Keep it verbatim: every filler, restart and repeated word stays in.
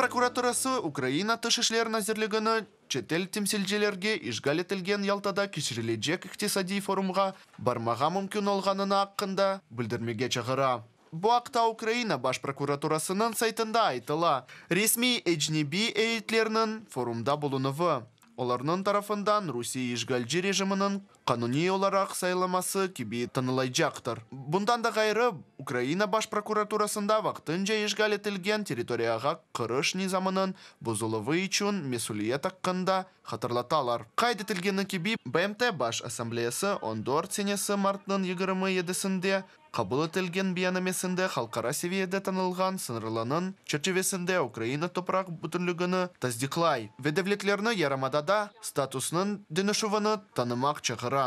prokuraturası Ukraina Tış işler nazirligini çetel temsilcilerge işğal etilgen Yaltada keçirilecek iqtisadiy forumğa barmağa mümkün olğanını aqqında bildirmege çağıra. Bu aqta Ukraina Baş prokuraturasınıñ saytında aytıla. Resmiy ecnebiy eyyetlerniñ forumda bulunuvı, olarnıñ tarafından Rusiye işğalci rejiminiñ qanuniy olaraq sayılması kibi tanılaycaqtır. Bundan da ğayrı, Ukraina Baş prokuraturasında vaqtınca işğal etilgen territoriyağa kiriş nizamınıñ bozuluvı içün mesüliyet aqqında hatırlatalar. Qayd etilgeni kibi, B M T Baş Assambleyası on dört senesi martnıñ yigirmi yedisinde qabul etilgen beyannamesinde halqara seviyede tanılğan sıñırlarnıñ çerçivesinde Ukraina topraq bütünligini tasdiqlay ve devletlerni yarımadada statusnıñ deñişüvini tanımaq çağıra.